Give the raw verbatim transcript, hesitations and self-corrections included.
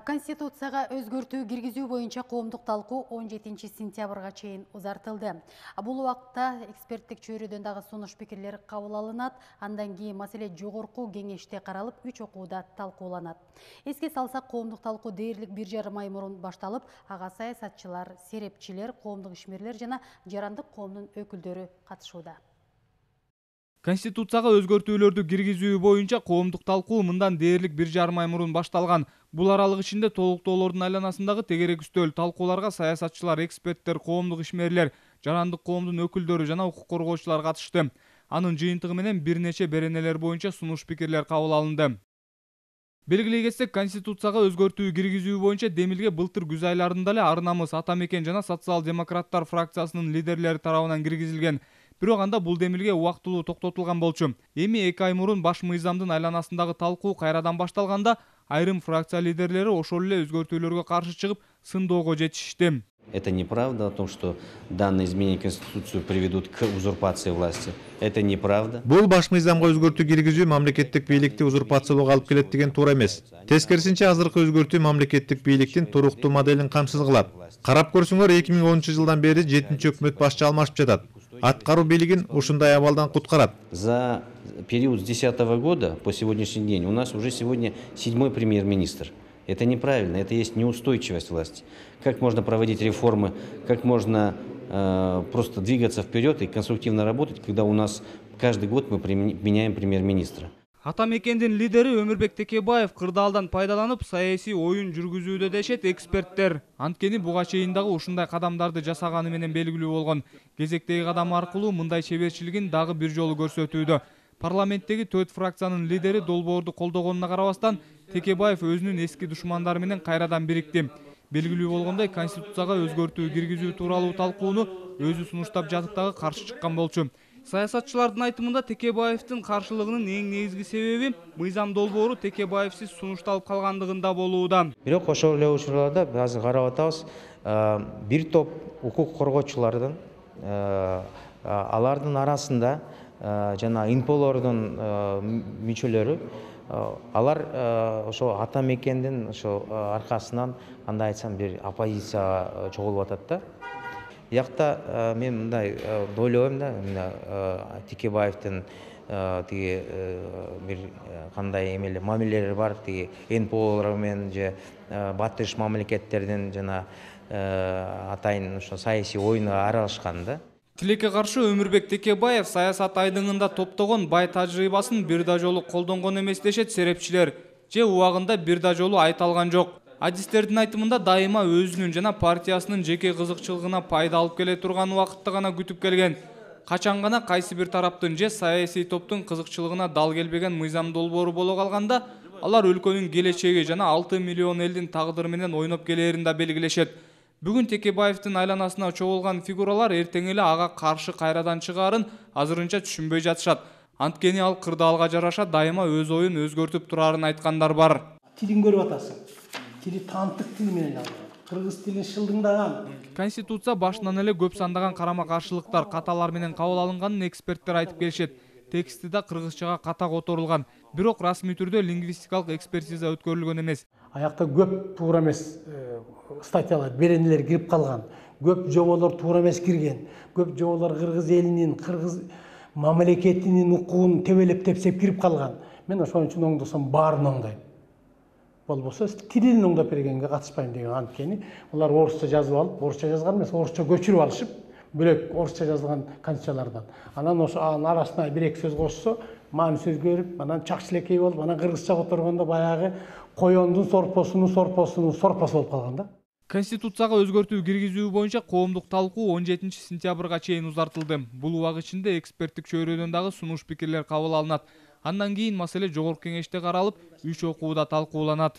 Конституцияга өзгөртүү киргизүү боюнча коомдук талкуу он жетинчи сентябрга чейин узартылды. Бул убакытта эксперттик чөйрөдөн дагы сунуш пикирлер кабыл алынат. Андан кийин маселе жогорку кеңеште каралып, үч окууда талкууланат. Эске салсак, коомдук талкуу дээрлик бир жарым ай мурун башталып, ага саясатчылар, серепчилер, коомдук ишмерлер жана жарандык коомдун өкүлдөрү катышууда. Конституцияга өзгөртүүлөрдү киргизүү боюнча коомдук талкуу мындан дээрлик бир жарым ай мурун башталган. Бул аралык ичинде толуктоолордун айланасындагы тегерек үстөл талкууларга саясатчылар, эксперттер, коомдук ишмерлер, жарандык коомдун өкүлдөрү жана укук коргоочулар катышты. Анын жыйынтыгы менен бир нече беренелер боюнча сунуш пикирлер кабыл алынды. Белгилей кетсек, Конституцияга өзгөртүү киргизүү боюнча демилге былтыр күз айларында эле Ар намыс, Ата мекен жана социал-демократтар фракциясынын лидерлери тарабынан киргизилген. Бирок анда бул демилге убактылуу токтотулган болчу. Эми эки ай мурун баш мыйзамдын айланасындагы талкуу кайрадан башталганда, айрым фракция лидерлери ошол эле өзгөртүүлөргө каршы чыгып, сындоого жетишишти. Это неправда о том, что данные изменения в Конституцию приведут к узурпации власти. Это неправда. Бул баш мыйзамга өзгөртүү киргизүү мамлекеттик бийликти узурпациялоого алып келет деген туура эмес. Тескерисинче, азыркы өзгөртүү мамлекеттик бийликтин туруктуу моделин камсыз кылат. Карап көрсөңөр, эки миң онунчу жылдан бери жетинчи өкмөт башчы алмашып жатат. Аткаруу бийлигин ушундай абалдан куткарат. За период с десятого года по сегодняшний день у нас уже сегодня седьмой премьер-министр. Это неправильно, это есть неустойчивость власти. Как можно проводить реформы, как можно э, просто двигаться вперед и конструктивно работать, когда у нас каждый год мы меняем премьер-министра. Ата мекендин лидери Өмүрбек Текебаев кырдаалдан пайдаланып саясий оюн жүргүзүүдө дешет эксперттер. Анткени буга чейин дагы ушундай кадамдарды жасаганы менен белгилүү болгон. Кезектеги кадам аркылуу мындай чеберчилигин дагы бир жолу көрсөтүүдө. Парламенттеги төрт фракциянын лидери долбоорду колдогонуна карабастан, Текебаев өзүнүн эски душмандары менен кайрадан бирикти. Белгилүү болгондой, Конституцияга өзгөртүү киргизүү тууралуу талкууну өзү сунуштап жатып дагы каршы чыккан болчу. Саясатчылардын айтымында Текебаевдин каршылыгынын эң негизги себеби мыйзам долбоору Текебаевсиз сунушталып калгандыгында болууда. Бирок ошол эле учурларда азыр карап атабыз, бир топ укук коргоочулардын алардын арасында жана инполордун мүчөлөрү, алар ошо Ата мекендин ошо аркасынан, кандай айтсам, бир оппозицияга чогулуп атат да. Якта мен мындай ойлойм да, Текебаевдин тиги бир кандай эмеле мамилелери бар, тиги инполор менен же батыш мамлекеттердин жана атайын ошо саясий оюнга аралашкан да. Тилекке каршы Өмүрбек Текебаев саясат айдыңында топтогон бай тажрыйбасын бир да жолу колдонгон эмес дешет серепчилер, же убагында бир да жолу айта алган жок. Адистердин айтымында дайыма өзүнүн жана партиясынын жеке кызыкчылыгына пайда алып келе турган убакытты гана күтүп келген. Качан гана кайсы бир тараптын же саясий топтун кызыкчылыгына дал келбеген мыйзам долбоору боло калганда, алар өлкөнүн келечеги жана алты миллион элдин тагдыры менен ойноп келерин да белгилешет. Бүгүн Текебаевдин айланасына чогулган фигуралар эртең эле ага каршы кайрадан чыгаарын азырынча түшүнбөй жатышат. Анткени ал кырдаалга жараша дайыма өз оюн өзгөртүп турарын айткандар бар. Тилин көрүп атасың. Тили таанттык тил менен алган. Кыргыз тилин шылдыңдаган. Конституция башынан эле көп сандаган карама-каршылыктар, каталар менен кабыл алынганын эксперттер айтып келишет. Тексти да кыргызчага ката которулган. Бирок расмий түрдө лингвистикалык экспертиза өткөрүлгөн эмес. Аякта көп туура эмес статьялар, беренелер кирип калган. Көп жоболор туура эмес кирген. Көп жоболор кыргыз элинин, кыргыз мамлекетинин укугун тебелеп тепсеп кирип калган. Мен ошон үчүн оңдосом баарын оңдойм. Болбосо тилин оңдоп бергенге катышпайм деген. Анткени алар орусча жазып алып, орусча жазган эмес, орусча көчүрүп алышып, бөлөк орусча жазылган конституциялардан. Анан ошо анын арасына бир-эки сөз кошсо, мааниси өзгөрүп, анан чакчылекей болуп, анан кыргызча которгондо баягы коёндун сорпосунун сорпосунун сорпосу болуп калган да. Конституцияга өзгөртүү киргизүү боюнча коомдук талкуу он жетинчи сентябрга чейин узартылды. Бул убак ичинде эксперттик чөйрөдөн дагы сунуш пикирлер кабыл алынат. Андан кийин маселе жогорку кеңеште каралып, үч окууда талкууланат.